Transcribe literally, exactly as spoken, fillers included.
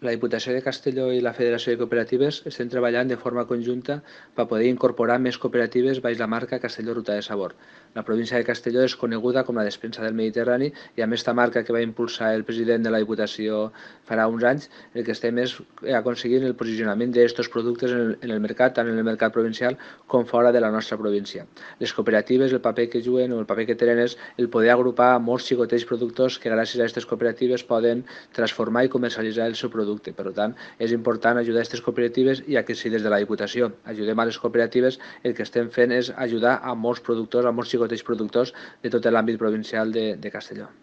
La Diputació de Castelló i la Federació de Cooperatives estem treballant de forma conjunta per poder incorporar més cooperatives baix la marca Castelló Ruta de Sabor. La província de Castelló és coneguda com la despensa del Mediterrani i amb aquesta marca que va impulsar el president de la Diputació farà uns anys, el que estem és aconseguint el posicionament d'aquests productes en el, en el mercat, tant en el mercat provincial com fora de la nostra província. Les cooperatives, el paper que juguen o el paper que tenen és el poder agrupar molts xicotets productors que gràcies a aquestes cooperatives poden transformar i comercialitzar el seu producte. Per tant, és important ajudar aquestes cooperatives i que si des de la Diputació ajudem a les cooperatives, el que estem fent és ajudar a molts productors, a molts xicotets productors de tot l'àmbit provincial de, de Castelló.